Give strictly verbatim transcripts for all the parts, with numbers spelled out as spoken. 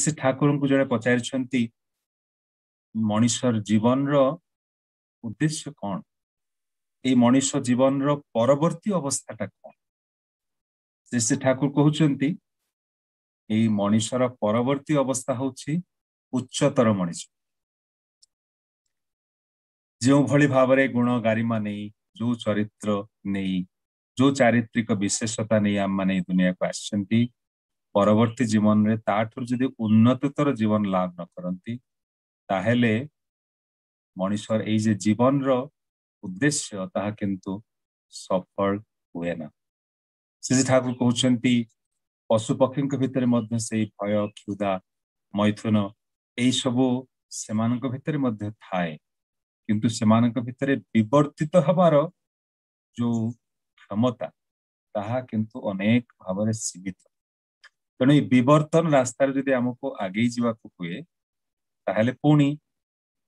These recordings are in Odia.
ଶ୍ରୀ ଠାକୁରଙ୍କୁ ଜଣେ ପଚାରିଛନ୍ତି, ମଣିଷର ଜୀବନର ଉଦ୍ଦେଶ୍ୟ କଣ, ଏଇ ମଣିଷ ଜୀବନର ପରବର୍ତ୍ତୀ ଅବସ୍ଥାଟା କଣ? ଶ୍ରୀ ଶ୍ରୀ ଠାକୁର କହୁଛନ୍ତି, ଏଇ ମଣିଷର ପରବର୍ତ୍ତୀ ଅବସ୍ଥା ହଉଛି ଉଚ୍ଚତର ମଣିଷ। ଯେଉଁଭଳି ଭାବରେ ଗୁଣ ଗାରିମା ନେଇ, ଯୋଉ ଚରିତ୍ର ନେଇ, ଯୋଉ ଚାରିତ୍ରିକ ବିଶେଷତା ନେଇ ଆମମାନେ ଏଇ ଦୁନିଆକୁ ଆସିଛନ୍ତି, ପରବର୍ତ୍ତୀ ଜୀବନରେ ତାଠାରୁ ଯଦି ଉନ୍ନତତର ଜୀବନ ଲାଭ ନ କରନ୍ତି, ତାହେଲେ ମଣିଷର ଏଇ ଯେ ଜୀବନର ଉଦ୍ଦେଶ୍ୟ ତାହା କିନ୍ତୁ ସଫଳ ହୁଏ ନା। ଶ୍ରୀ ଠାକୁର କହୁଛନ୍ତି, ପଶୁ ପକ୍ଷୀଙ୍କ ଭିତରେ ମଧ୍ୟ ସେଇ ଭୟ, କ୍ଷୁଧା, ମୈଥୁନ ଏଇ ସବୁ ସେମାନଙ୍କ ଭିତରେ ମଧ୍ୟ ଥାଏ, କିନ୍ତୁ ସେମାନଙ୍କ ଭିତରେ ବିବର୍ତ୍ତିତ ହବାର ଯୋଉ କ୍ଷମତା ତାହା କିନ୍ତୁ ଅନେକ ଭାବରେ ସୀମିତ। ତେଣୁ ଏଇ ବିବର୍ତ୍ତନ ରାସ୍ତାରେ ଯଦି ଆମକୁ ଆଗେଇ ଯିବାକୁ ହୁଏ, ତାହେଲେ ପୁଣି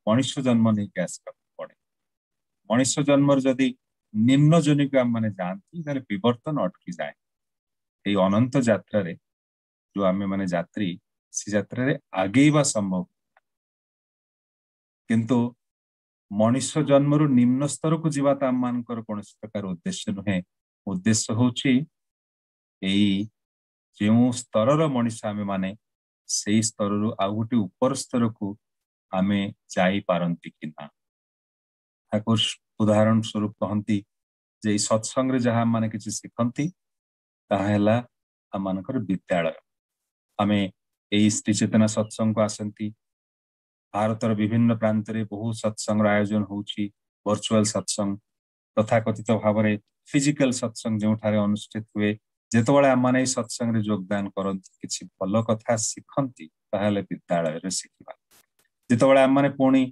ମଣିଷ ଜନ୍ମ ନେଇକି ଆସିବାକୁ ପଡେ। ମଣିଷ ଜନ୍ମର ଯଦି ନିମ୍ନ ଜନିକୁ ଆମମାନେ ଯାଆନ୍ତି, ତାହେଲେ ବିବର୍ତ୍ତନ ଅଟକି ଯାଏ। ଏଇ ଅନନ୍ତ ଯାତ୍ରାରେ ଯୋଉ ଆମେ ମାନେ ଯାତ୍ରୀ, ସେ ଯାତ୍ରାରେ ଆଗେଇବା ସମ୍ଭବ। କିନ୍ତୁ ମଣିଷ ଜନ୍ମରୁ ନିମ୍ନ ସ୍ତରକୁ ଯିବା ତ ଆମମାନଙ୍କର କୌଣସି ପ୍ରକାର ଉଦ୍ଦେଶ୍ୟ ନୁହେଁ। ଉଦ୍ଦେଶ୍ୟ ହଉଛି ଏଇ ଯେଉଁ ସ୍ତରର ମଣିଷ ଆମେ ମାନେ, ସେଇ ସ୍ତରରୁ ଆଉ ଗୋଟେ ଉପର ସ୍ତରକୁ ଆମେ ଯାଇପାରନ୍ତି କି ନା। ଠାକୁର ଉଦାହରଣ ସ୍ୱରୂପ କହନ୍ତି ଯେ ଏଇ ସତ୍ସଙ୍ଗରେ ଯାହା ଆମମାନେ କିଛି ଶିଖନ୍ତି, ତାହା ହେଲା ଆମମାନଙ୍କର ବିଦ୍ୟାଳୟ। ଆମେ ଏଇ ଶ୍ରୀ ଚେତନା ସତ୍ସଙ୍ଗକୁ ଆସନ୍ତି, ଭାରତର ବିଭିନ୍ନ ପ୍ରାନ୍ତରେ ବହୁ ସତ୍ସଙ୍ଗର ଆୟୋଜନ ହଉଛି, ଭର୍ଚୁଆଲ ସତ୍ସଙ୍ଗ, ତଥାକଥିତ ଭାବରେ ଫିଜିକାଲ ସତ୍ସଙ୍ଗ ଯେଉଁଠାରେ ଅନୁଷ୍ଠିତ ହୁଏ। ଯେତେବେଳେ ଆମମାନେ ଏଇ ସତ୍ସଙ୍ଗରେ ଯୋଗଦାନ କରନ୍ତି, କିଛି ଭଲ କଥା ଶିଖନ୍ତି, ତାହେଲେ ବିଦ୍ୟାଳୟରେ ଶିଖିବା। ଯେତେବେଳେ ଆମମାନେ ପୁଣି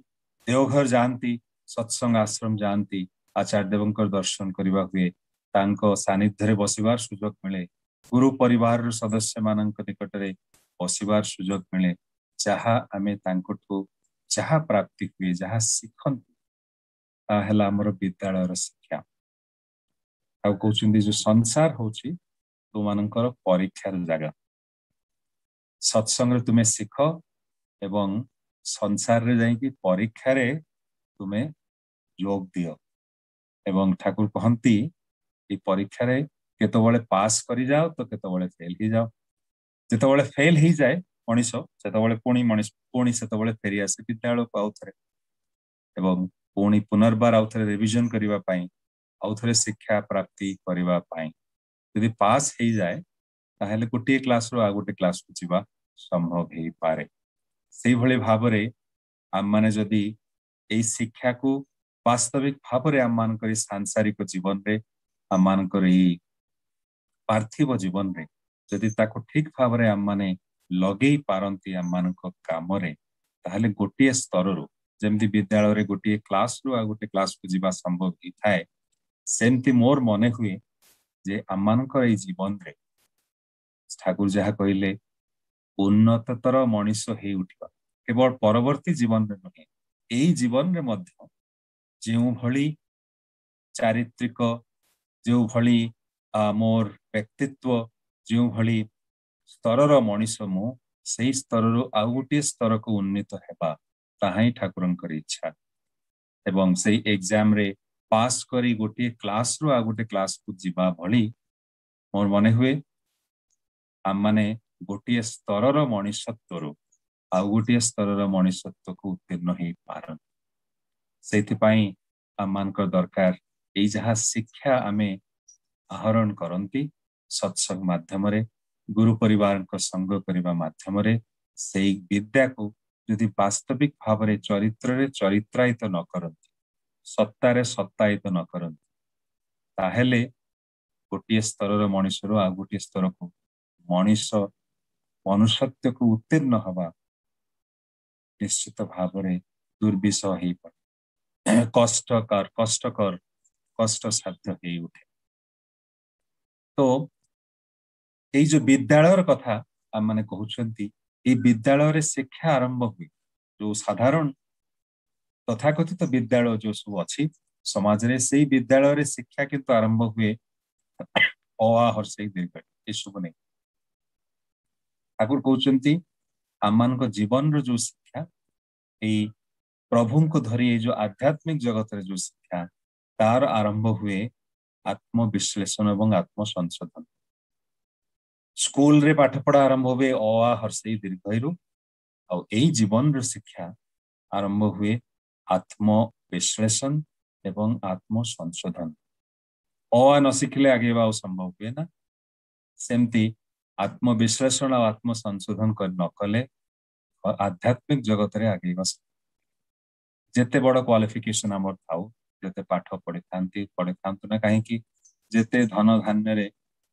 ଦେଓଘର ଯାଆନ୍ତି, ସତ୍ସଙ୍ଗ ଆଶ୍ରମ ଯାଆନ୍ତି, ଆଚାର୍ଯ୍ୟ ଦେବଙ୍କର ଦର୍ଶନ କରିବା ହୁଏ, ତାଙ୍କ ସାନ୍ନିଧ୍ୟରେ ବସିବାର ସୁଯୋଗ ମିଳେ, ଗୁରୁ ପରିବାରର ସଦସ୍ୟମାନଙ୍କ ନିକଟରେ ବସିବାର ସୁଯୋଗ ମିଳେ, ଯାହା ଆମେ ତାଙ୍କଠୁ ଯାହା ପ୍ରାପ୍ତି ହୁଏ, ଯାହା ଶିଖନ୍ତି, ତାହା ହେଲା ଆମର ବିଦ୍ୟାଳୟର ଶିକ୍ଷା। ଆଉ କହୁଛନ୍ତି ଯୋଉ ସଂସାର ହଉଛି ତୁମମାନଙ୍କର ପରୀକ୍ଷାର ଜାଗା। ସତ୍ସଙ୍ଗରେ ତୁମେ ଶିଖ ଏବଂ ସଂସାରରେ ଯାଇକି ପରୀକ୍ଷାରେ ତୁମେ ଯୋଗ ଦିଅ। ଏବଂ ଠାକୁର କହନ୍ତି, ଏଇ ପରୀକ୍ଷାରେ କେତେବେଳେ ପାସ୍ କରିଯାଅ ତ କେତେବେଳେ ଫେଲ ହେଇଯାଅ। ଯେତେବେଳେ ଫେଲ ହେଇଯାଏ ମଣିଷ, ସେତେବେଳେ ପୁଣି ମଣିଷ ପୁଣି ସେତେବେଳେ ଫେରି ଆସେ ବିଦ୍ୟାଳୟକୁ ଆଉ ଥରେ, ଏବଂ ପୁଣି ପୁନର୍ବାର ଆଉ ଥରେ ରିଭିଜନ କରିବା ପାଇଁ, ଆଉ ଥରେ ଶିକ୍ଷା ପ୍ରାପ୍ତି କରିବା ପାଇଁ। ଯଦି ପାସ୍ ହେଇଯାଏ, ତାହେଲେ ଗୋଟିଏ କ୍ଲାସରୁ ଆଉ ଗୋଟେ କ୍ଲାସକୁ ଯିବା ସମ୍ଭବ ହେଇପାରେ। ସେଇଭଳି ଭାବରେ ଆମମାନେ ଯଦି ଏଇ ଶିକ୍ଷାକୁ ବାସ୍ତବିକ ଭାବରେ ଆମମାନଙ୍କର ଏଇ ସାଂସାରିକ ଜୀବନରେ, ଆମମାନଙ୍କର ଏଇ ପାର୍ଥିବ ଜୀବନରେ ଯଦି ତାକୁ ଠିକ ଭାବରେ ଆମମାନେ ଲଗେଇ ପାରନ୍ତି ଆମମାନଙ୍କ କାମରେ, ତାହେଲେ ଗୋଟିଏ ସ୍ତରରୁ, ଯେମିତି ବିଦ୍ୟାଳୟରେ ଗୋଟିଏ କ୍ଲାସରୁ ଆଉ ଗୋଟେ କ୍ଲାସକୁ ଯିବା ସମ୍ଭବ ହେଇଥାଏ, ସେମିତି ମୋର ମନେ ହୁଏ ଯେ ଆମମାନଙ୍କର ଏଇ ଜୀବନରେ ଠାକୁର ଯାହା କହିଲେ, ଉନ୍ନତତର ମଣିଷ ହେଇ ଉଠିବା, କେବଳ ପରବର୍ତ୍ତୀ ଜୀବନରେ ନୁହେଁ, ଏଇ ଜୀବନରେ ମଧ୍ୟ ଯେଉଁଭଳି ଚାରିତ୍ରିକ, ଯେଉଁଭଳି ମୋର ବ୍ୟକ୍ତିତ୍ୱ, ଯେଉଁଭଳି ସ୍ତରର ମଣିଷ ମୁଁ, ସେଇ ସ୍ତରରୁ ଆଉ ଗୋଟିଏ ସ୍ତରକୁ ଉନ୍ନୀତ ହେବା, ତାହା ହିଁ ଠାକୁରଙ୍କର ଇଚ୍ଛା। ଏବଂ ସେଇ ଏକ୍ଜାମରେ ପାସ୍ କରି ଗୋଟିଏ କ୍ଲାସରୁ ଆଉ ଗୋଟେ କ୍ଲାସକୁ ଯିବା ଭଳି ମୋର ମନେ ହୁଏ ଆମମାନେ ଗୋଟିଏ ସ୍ତରର ମଣିଷତ୍ୱରୁ ଆଉ ଗୋଟିଏ ସ୍ତରର ମଣିଷତ୍ୱକୁ ଉତ୍ତୀର୍ଣ୍ଣ ହେଇପାରନ୍ତି। ସେଇଥିପାଇଁ ଆମମାନଙ୍କର ଦରକାର ଏଇ ଯାହା ଶିକ୍ଷା ଆମେ ଆହରଣ କରନ୍ତି ସତ୍ସଙ୍ଗ ମାଧ୍ୟମରେ, ଗୁରୁ ପରିବାରଙ୍କ ସଙ୍ଗ କରିବା ମାଧ୍ୟମରେ, ସେଇ ବିଦ୍ୟାକୁ ଯଦି ବାସ୍ତବିକ ଭାବରେ ଚରିତ୍ରରେ ଚରିତ୍ରାୟିତ ନ କରନ୍ତି, ସତ୍ତାରେ ସତ୍ତାୟିତ ନ କରନ୍ତି, ତାହେଲେ ଗୋଟିଏ ସ୍ତରର ମଣିଷରୁ ଆଉ ଗୋଟିଏ ସ୍ତରକୁ ମଣିଷ ମନୁଷ୍ୟତ୍ୱକୁ ଉତ୍ତୀର୍ଣ୍ଣ ହବା ନିଶ୍ଚିତ ଭାବରେ ଦୁର୍ବିଷହ ହେଇପଡ଼େ, କଷ୍ଟକର କଷ୍ଟକର କଷ୍ଟସାଧ୍ୟ ହେଇ ଉଠେ। ତ ଏଇ ଯୋଉ ବିଦ୍ୟାଳୟର କଥା ଆମମାନେ କହୁଛନ୍ତି, ଏଇ ବିଦ୍ୟାଳୟରେ ଶିକ୍ଷା ଆରମ୍ଭ ହୁଏ। ଯୋଉ ସାଧାରଣ ତଥାକଥିତ ବିଦ୍ୟାଳୟ ଯୋଉ ସବୁ ଅଛି ସମାଜରେ, ସେଇ ବିଦ୍ୟାଳୟରେ ଶିକ୍ଷା କିନ୍ତୁ ଆରମ୍ଭ ହୁଏ ଅ ଆ ହର୍ଷେଇ ଦୀର୍ଘ ଏସବୁ ନେଇ। ଠାକୁର କହୁଛନ୍ତି ଆମମାନଙ୍କ ଜୀବନର ଯୋଉ ଶିକ୍ଷା, ଏଇ ପ୍ରଭୁଙ୍କୁ ଧରି ଏଇ ଯୋଉ ଆଧ୍ୟାତ୍ମିକ ଜଗତରେ ଯୋଉ ଶିକ୍ଷା, ତାର ଆରମ୍ଭ ହୁଏ ଆତ୍ମବିଶ୍ଳେଷଣ ଏବଂ ଆତ୍ମସଂଶୋଧନ। ସ୍କୁଲରେ ପାଠ ପଢା ଆରମ୍ଭ ହୁଏ ଅ ଆ ହର୍ଷେଇ ଦୀର୍ଘଇରୁ, ଆଉ ଏଇ ଜୀବନର ଶିକ୍ଷା ଆରମ୍ଭ ହୁଏ ଆତ୍ମବିଶ୍ଳେଷଣ ଏବଂ ଆତ୍ମସଂଶୋଧନ। ଅ ଆ ନ ଶିଖିଲେ ଆଗେଇବା ଆଉ ସମ୍ଭବ ହୁଏ ନା। ସେମିତି ଆତ୍ମବିଶ୍ଳେଷଣ ଆଉ ଆତ୍ମସଂଶୋଧନ କରି ନ କଲେ ଆଧ୍ୟାତ୍ମିକ ଜଗତରେ ଆଗେଇବା, ଯେତେ ବଡ କ୍ୱାଲିଫିକେସନ ଆମର ଥାଉ, ଯେତେ ପାଠ ପଢିଥାନ୍ତି ପଢିଥାନ୍ତୁ ନା କାହିଁକି, ଯେତେ ଧନ ଧାନ୍ୟରେ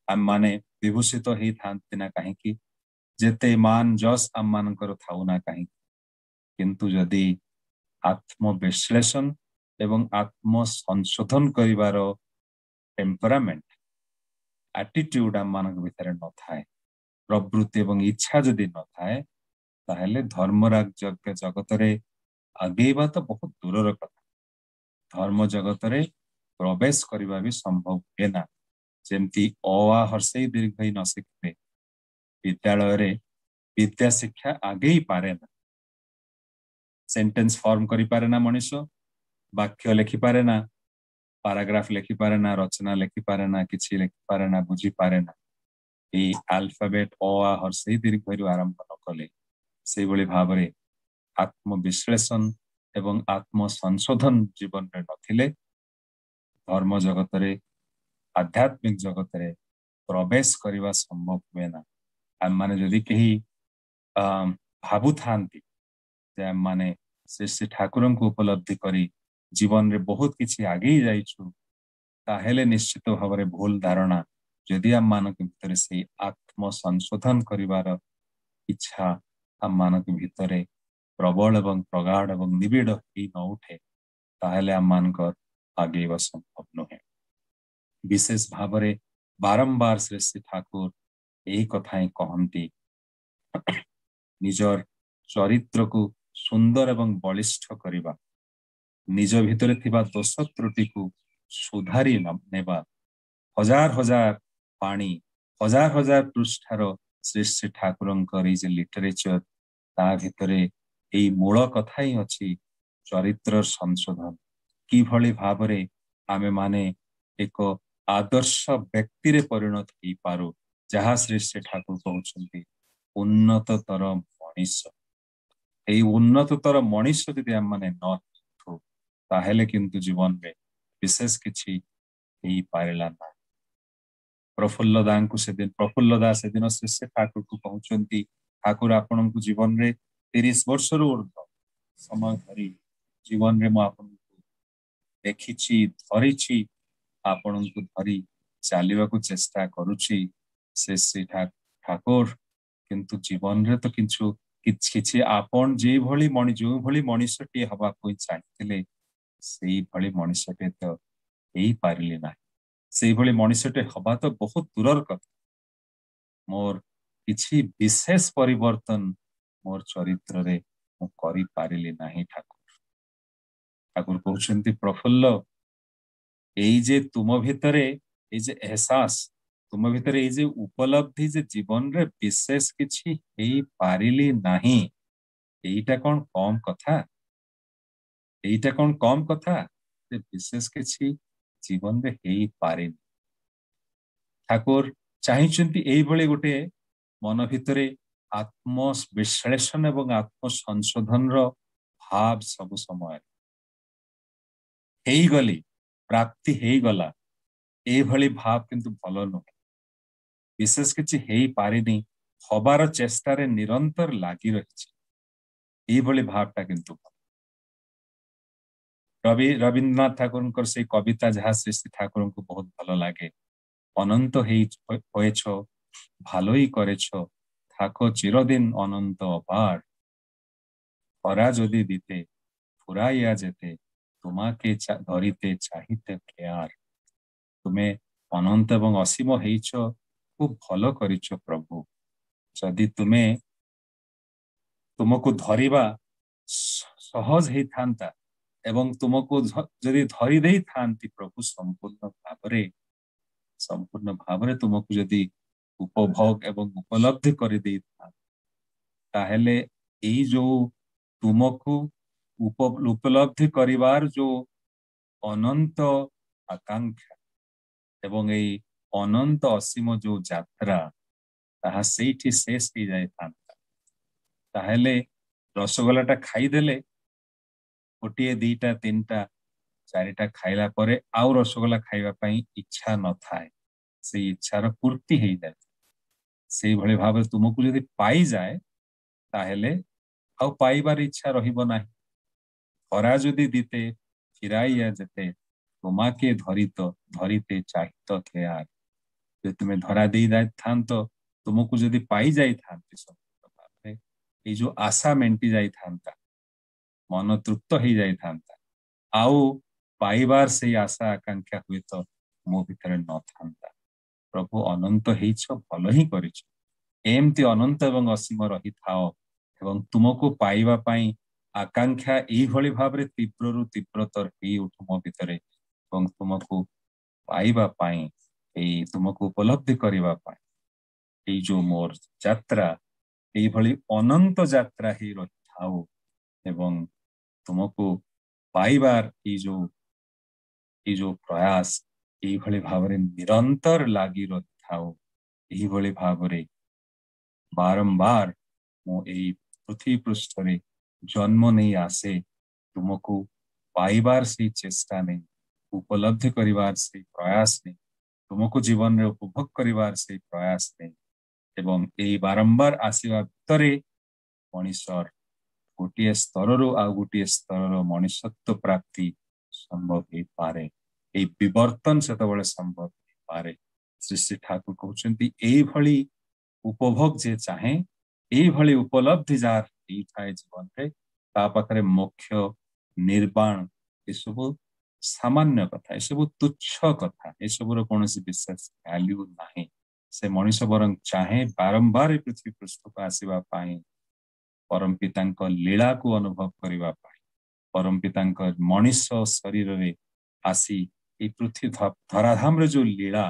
ଆମମାନେ ବିଭୂଷିତ ହେଇଥାନ୍ତି ନା କାହିଁକି, ଯେତେ ମାନ ଯଶ ଆମମାନଙ୍କର ଥାଉ ନା କାହିଁକି, କିନ୍ତୁ ଯଦି ଆତ୍ମବିଶ୍ଳେଷଣ ଏବଂ ଆତ୍ମସଂଶୋଧନ କରିବାର ଟେମ୍ପରାମେଣ୍ଟ, ଆଟିଟ୍ୟୁଡ ଆମମାନଙ୍କ ଭିତରେ ନଥାଏ, ପ୍ରବୃତ୍ତି ଏବଂ ଇଚ୍ଛା ଯଦି ନଥାଏ, ତାହେଲେ ଧର୍ମରାଜ ଜଗତରେ ଆଗେଇବା ତ ବହୁତ ଦୂରର କଥା, ଧର୍ମ ଜଗତରେ ପ୍ରବେଶ କରିବା ବି ସମ୍ଭବ ହୁଏ ନା। ଯେମିତି ଅ ଆ ହର୍ଷେଇ ଦୀର୍ଘଇ ନ ଶିଖିଲେ ବିଦ୍ୟାଳୟରେ ବିଦ୍ୟା ଶିକ୍ଷା ଆଗେଇ ପାରେ ନା, ସେଣ୍ଟେନ୍ସ ଫର୍ମ କରିପାରେ ନା ମଣିଷ, ବାକ୍ୟ ଲେଖିପାରେ ନା, ପାରାଗ୍ରାଫ ଲେଖିପାରେ ନା, ରଚନା ଲେଖିପାରେ ନା, କିଛି ଲେଖିପାରେ ନା, ବୁଝିପାରେ ନା। ଏଇ ଆଲଫାବେଟ ଅ ଆ ହର୍ଷେଇ ଦୀର୍ଘରୁ ଆରମ୍ଭ ନ କଲେ, ସେଇଭଳି ଭାବରେ ଆତ୍ମବିଶ୍ଳେଷଣ ଏବଂ ଆତ୍ମସଂଶୋଧନ ଜୀବନରେ ନଥିଲେ ଧର୍ମ ଜଗତରେ, ଆଧ୍ୟାତ୍ମିକ ଜଗତରେ ପ୍ରବେଶ କରିବା ସମ୍ଭବ ହୁଏ ନା। ଆମମାନେ ଯଦି କେହି ଅ ଭାବୁଥାନ୍ତି ଯେ ଆମମାନେ ଶ୍ରୀ ଶ୍ରୀ ଠାକୁରଙ୍କୁ ଉପଲବ୍ଧି କରି ଜୀବନରେ ବହୁତ କିଛି ଆଗେଇ ଯାଇଛୁ, ତାହେଲେ ନିଶ୍ଚିତ ଭାବରେ ଭୁଲ ଧାରଣା। ଯଦି ଆମମାନଙ୍କ ଭିତରେ ସେଇ ଆତ୍ମସଂଶୋଧନ କରିବାର ଇଚ୍ଛା ଆମମାନଙ୍କ ଭିତରେ ପ୍ରବଳ ଏବଂ ପ୍ରଗାଢ ଏବଂ ନିବିଡ଼ ହେଇ ନ ଉଠେ, ତାହେଲେ ଆମମାନଙ୍କର ଆଗେଇବା ସମ୍ଭବ ନୁହେଁ। ବିଶେଷ ଭାବରେ ବାରମ୍ବାର ଶ୍ରୀ ଶ୍ରୀ ଠାକୁର ଏଇ କଥା ହିଁ କହନ୍ତି, ନିଜର ଚରିତ୍ରକୁ ସୁନ୍ଦର ଏବଂ ବଳିଷ୍ଠ କରିବା, ନିଜ ଭିତରେ ଥିବା ଦୋଷ ତ୍ରୁଟିକୁ ସୁଧାରି ନେବା। ହଜାର ହଜାର ବାଣୀ, ହଜାର ହଜାର ପୃଷ୍ଠାର ଶ୍ରୀ ଶ୍ରୀ ଠାକୁରଙ୍କର ଏଇ ଯେ ଲିଟରେଚର, ତା ଭିତରେ ଏଇ ମୂଳ କଥା ହିଁ ଅଛି, ଚରିତ୍ର ସଂଶୋଧନ। କିଭଳି ଭାବରେ ଆମେମାନେ ଏକ ଆଦର୍ଶ ବ୍ୟକ୍ତିରେ ପରିଣତ ହେଇପାରୁ, ଯାହା ଶ୍ରୀ ଶ୍ରୀ ଠାକୁର କହୁଛନ୍ତି ଉନ୍ନତତର ମଣିଷ। ଏଇ ଉନ୍ନତତର ମଣିଷ ଯଦି ଆମମାନେ ନ ହେଇଥାଉ, ତାହେଲେ କିନ୍ତୁ ଜୀବନରେ ବିଶେଷ କିଛି ହେଇପାରିଲା ନାହିଁ। ପ୍ରଫୁଲ୍ଲ ଦାଙ୍କୁ ସେଦିନ, ପ୍ରଫୁଲ୍ଲ ଦାସ ସେଦିନ ଶ୍ରୀ ଶ୍ରୀ ଠାକୁରକୁ କହୁଛନ୍ତି, ଠାକୁର ଆପଣଙ୍କୁ ଜୀବନରେ ତିରିଶ ବର୍ଷରୁ ଉର୍ଦ୍ଧ୍ୱ ସମୟ ଧରି ଜୀବନରେ ମୁଁ ଆପଣଙ୍କୁ ଦେଖିଛି, ଧରିଛି, ଆପଣଙ୍କୁ ଧରି ଚାଲିବାକୁ ଚେଷ୍ଟା କରୁଛି ସେ ଶ୍ରୀ ଠାକୁର, କିନ୍ତୁ ଜୀବନରେ ତ କିଛି କିଛି ଆପଣ ଯେଭଳି ମଣି ଯେଉଁଭଳି ମଣିଷଟିଏ ହବାକୁ ଚାହିଁଥିଲେ ସେଇଭଳି ମଣିଷଟିଏ ତ ହେଇପାରିଲି ନାହିଁ। ସେଇଭଳି ମଣିଷଟେ ହବା ତ ବହୁତ ଦୂରର କଥା। ମୋର କିଛି ବିଶେଷ ପରିବର୍ତ୍ତନ ମୋର ଚରିତ୍ରରେ ମୁଁ କରିପାରିଲି ନାହିଁ ଠାକୁର। ଠାକୁର କହୁଛନ୍ତି, ପ୍ରଫୁଲ୍ଲ, ଏଇ ଯେ ତୁମ ଭିତରେ ଏଇ ଯେ ଏହସାସ, ତୁମ ଭିତରେ ଏଇ ଯେ ଉପଲବ୍ଧି ଯେ ଜୀବନରେ ବିଶେଷ କିଛି ହେଇପାରିଲି ନାହିଁ, ଏଇଟା କଣ କମ କଥା? ଏଇଟା କଣ କମ କଥା ଯେ ବିଶେଷ କିଛି ଜୀବନରେ ହେଇପାରିନି? ଠାକୁର ଚାହିଁଛନ୍ତି ଏଇଭଳି ଗୋଟେ ମନ ଭିତରେ ଆତ୍ମବିଶ୍ଳେଷଣ ଏବଂ ଆତ୍ମସଂଶୋଧନର ଭାବ ସବୁ ସମୟରେ ହେଇଗଲି, ପ୍ରାପ୍ତି ହେଇଗଲା, ଏଇଭଳି ଭାବ କିନ୍ତୁ ଭଲ ନୁହେଁ। ବିଶେଷ କିଛି ହେଇପାରିନି, ହବାର ଚେଷ୍ଟାରେ ନିରନ୍ତର ଲାଗି ରହିଛି, ଏଇଭଳି ଭାବଟା କିନ୍ତୁ ଭଲ। ରବି ରବୀନ୍ଦ୍ରନାଥ ଠାକୁରଙ୍କର ସେଇ କବିତା ଯାହା ଶ୍ରୀ ଶ୍ରୀ ଠାକୁରଙ୍କୁ ବହୁତ ଭଲ ଲାଗେ, ଅନନ୍ତ ହେଇ হয়েছ ভালোই করেছ থাকো চিরদিন অনন্ত অপার, খরা যদি দিতে ফুরাইয়া যেতে তোমাকে ধরিতে চাহিতে কেয়ার। ତୁମେ ଅନନ୍ତ ଏବଂ ଅସୀମ ହେଇଛ, ଖୁବ ଭଲ କରିଛ ପ୍ରଭୁ। ଯଦି ତୁମେ ତୁମକୁ ଧରିବା ସହଜ ହେଇଥାନ୍ତା ଏବଂ ତୁମକୁ ଯଦି ଧରି ଦେଇଥାନ୍ତି ପ୍ରଭୁ ସମ୍ପୂର୍ଣ୍ଣ ଭାବରେ, ସମ୍ପୂର୍ଣ୍ଣ ଭାବରେ ତୁମକୁ ଯଦି ଉପଭୋଗ ଏବଂ ଉପଲବ୍ଧି କରିଦେଇଥାନ୍ତି, ତାହେଲେ ଏଇ ଯୋଉ ତୁମକୁ ଉପଲବ୍ଧି କରିବାର ଯୋଉ ଅନନ୍ତ ଆକାଂକ୍ଷା ଏବଂ ଏଇ ଅନନ୍ତ ଅସୀମ ଯୋଉ ଯାତ୍ରା, ତାହା ସେଇଠି ଶେଷ ହେଇଯାଇଥାନ୍ତା। ତାହେଲେ ରସଗୋଲାଟା ଖାଇଦେଲେ, ଗୋଟିଏ, ଦିଟା, ତିନିଟା, ଚାରିଟା ଖାଇଲା ପରେ ଆଉ ରସଗୋଲା ଖାଇବା ପାଇଁ ଇଚ୍ଛା ନଥାଏ, ସେଇ ଇଚ୍ଛାର ପୂର୍ତ୍ତି ହେଇଯାଏ। ସେଇଭଳି ଭାବରେ ତୁମକୁ ଯଦି ପାଇଯାଏ, ତାହେଲେ ଆଉ ପାଇବାର ଇଚ୍ଛା ରହିବ ନାହିଁ। ଧରା ଯଦି ଦିତେ ଫିରାଇଆ ଯେତେ, তোমাকে ଧରିତ ଧରିତେ ଚାହିତ କେ ଆର। ଯଦି ତୁମେ ଧରା ଦେଇ ଯାଇଥାନ୍ତ, ତୁମକୁ ଯଦି ପାଇ ଯାଇଥାନ୍ତି ସମ୍ପୂର୍ଣ୍ଣ ଭାବରେ, ଏଇ ଯୋଉ ଆଶା ମେଣ୍ଟି ଯାଇଥାନ୍ତା, ମନ ତୃପ୍ତ ହେଇଯାଇଥାନ୍ତା, ଆଉ ପାଇବାର ସେଇ ଆଶା ଆକାଂକ୍ଷା ହୁଏତ ମୋ ଭିତରେ ନଥାନ୍ତା। ପ୍ରଭୁ, ଅନନ୍ତ ହେଇଛ, ଭଲ ହିଁ କରିଛ। ଏମିତି ଅନନ୍ତ ଏବଂ ଅସୀମ ରହିଥାଅ ଏବଂ ତୁମକୁ ପାଇବା ପାଇଁ ଆକାଂକ୍ଷା ଏଇଭଳି ଭାବରେ ତୀବ୍ରରୁ ତୀବ୍ରତର ହେଇ ଉଠୁ ମୋ ଭିତରେ, ଏବଂ ତୁମକୁ ପାଇବା ପାଇଁ, ଏଇ ତୁମକୁ ଉପଲବ୍ଧି କରିବା ପାଇଁ ଏଇ ଯୋଉ ମୋର ଯାତ୍ରା, ଏଇଭଳି ଅନନ୍ତ ଯାତ୍ରା ହେଇ ରହିଥାଉ, ଏବଂ ତୁମକୁ ପାଇବାର ଏଇ ଯୋଉ ଏଇ ଯୋଉ ପ୍ରୟାସ ଏଇଭଳି ଭାବରେ ନିରନ୍ତର ଲାଗି ରହିଥାଉ। ଏହିଭଳି ଭାବରେ ବାରମ୍ବାର ମୁଁ ଏଇ ପୃଥିବୀ ପୃଷ୍ଠରେ ଜନ୍ମ ନେଇ ଆସେ, ତୁମକୁ ପାଇବାର ସେଇ ଚେଷ୍ଟା ନେଇ, ଉପଲବ୍ଧି କରିବାର ସେଇ ପ୍ରୟାସ ନେଇ, ତୁମକୁ ଜୀବନରେ ଉପଭୋଗ କରିବାର ସେଇ ପ୍ରୟାସ ନେଇ। ଏବଂ ଏଇ ବାରମ୍ବାର ଆସିବା ଭିତରେ ମଣିଷର ଗୋଟିଏ ସ୍ତରରୁ ଆଉ ଗୋଟିଏ ସ୍ତରର ମଣିଷତ୍ୱ ପ୍ରାପ୍ତି ସମ୍ଭବ ହେଇପାରେ। ଏଇ ବିବର୍ତ୍ତନ ସେତେବେଳେ ସମ୍ଭବ ହେଇପାରେ। ଶ୍ରୀ ଶ୍ରୀ ଠାକୁର କହୁଛନ୍ତି, ଏଇଭଳି ଉପଭୋଗ ଯେ ଚାହେଁ, ଏଇଭଳି ଉପଲବ୍ଧି ଯାହାର ହେଇଥାଏ ଜୀବନରେ, ତା ପାଖରେ ମୋକ୍ଷ, ନିର୍ବାଣ ଏସବୁ ସାମାନ୍ୟ କଥା, ଏସବୁ ତୁଚ୍ଛ କଥା, ଏସବୁର କୌଣସି ବିଶେଷ ଭ୍ୟାଲ୍ୟୁ ନାହିଁ। ସେ ମଣିଷ ବରଂ ଚାହେଁ ବାରମ୍ବାର ଏ ପୃଥିବୀ ପୃଷ୍ଠକୁ ଆସିବା ପାଇଁ, ପରମ ପିତାଙ୍କ ଲୀଳାକୁ ଅନୁଭବ କରିବା ପାଇଁ, ପରମ ପିତାଙ୍କ ମଣିଷ ଶରୀରରେ ଆସି ଏଇ ପୃଥିବୀ ଧରାଧାମରେ ଯୋଉ ଲୀଳା,